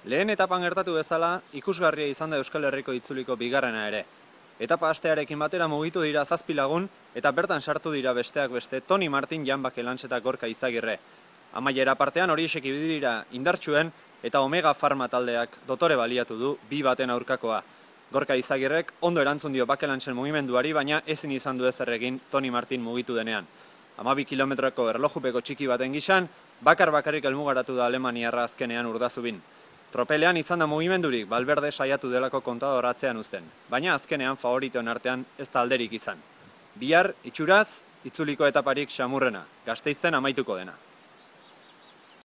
Lehen etapan gertatu bezala, ikusgarria izan da Euskal Herriko itzuliko bigarrena ere. Etapa hastearekin batera mugitu dira 7 lagun eta bertan sartu dira besteak beste Toni Martin, Jan Bakelands eta Gorka Izagirre. Amaiera partean horiexek ibili dira indartsuen eta Omega Pharma taldeak dotore baliatu du 2-2 aurkakoa. Gorka Izagirrek ondo erantzun dio Bakelandsen mugimenduari, baina ezin izan du ezer egin Toni Martin mugitu denean. 12 kilometroko erlojupeko txiki baten gisan, bakarrik helmugaratu da alemaniarra azkenean Urdazubin. Tropelean izan da mugimendurik, Valverde saiatu delako kontador atzean uzten, baina azkenean favoritoen artean ez da alderik izan. Bihar, itxuraz, itzuliko etaparik xamurrena, Gasteizen amaituko dena.